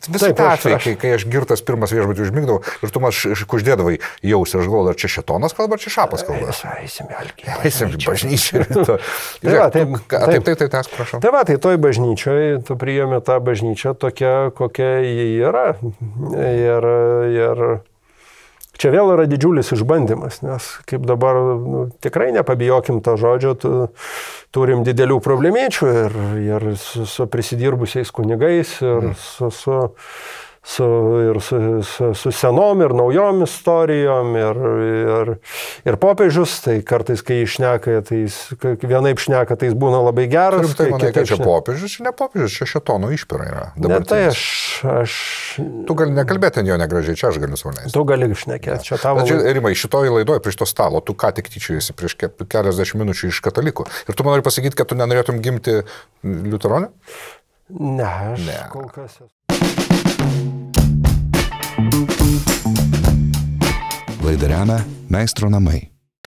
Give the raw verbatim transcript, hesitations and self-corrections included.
Visai ta atvejai, kai, kai aš girtas pirmas viešbutį užmigdavau ir tu man kuždėdavai jausi, aš galvoju, ar čia šetonas kalba, ar čia šapas kalba. Eisim, Elgi. Eisim, bažnyčiai. Taip, taip, taip, tai tas, prašau. Tai va, tai toj bažnyčioj, tu priėmė tą bažnyčią tokia, kokia ji yra. Ir, ir čia vėl yra didžiulis išbandymas, nes kaip dabar, nu, tikrai nepabijokim to žodžio, tu, turim didelių problemėčių ir, ir su, su prisidirbusiais kunigais, ir su, su, su, ir su, su, su senom ir naujom istorijom, ir, ir, ir popiežius, tai kartais, kai išneka, tai jis, vienaip šneka, tai jis būna labai geras. Turim tai manai, kad čia popiežius, čia ne popiežius, čia šetono išpira yra. Ne, tai aš, aš... Tu gali nekalbėti ant jo negražiai, čia aš galiu saunėti. Tu gali šnekėti, čia tavo... Bet, Rimai, šitoj laidoje prieš to stalo, tu ką tik tyčiojasi prieš keliasdešimt minučių iš katalikų. Ir tu man nori pasakyti, kad tu nenorėtum gimti liuteronė? Ne, aš ne. Kol kas... Laidą remia Meistro namai.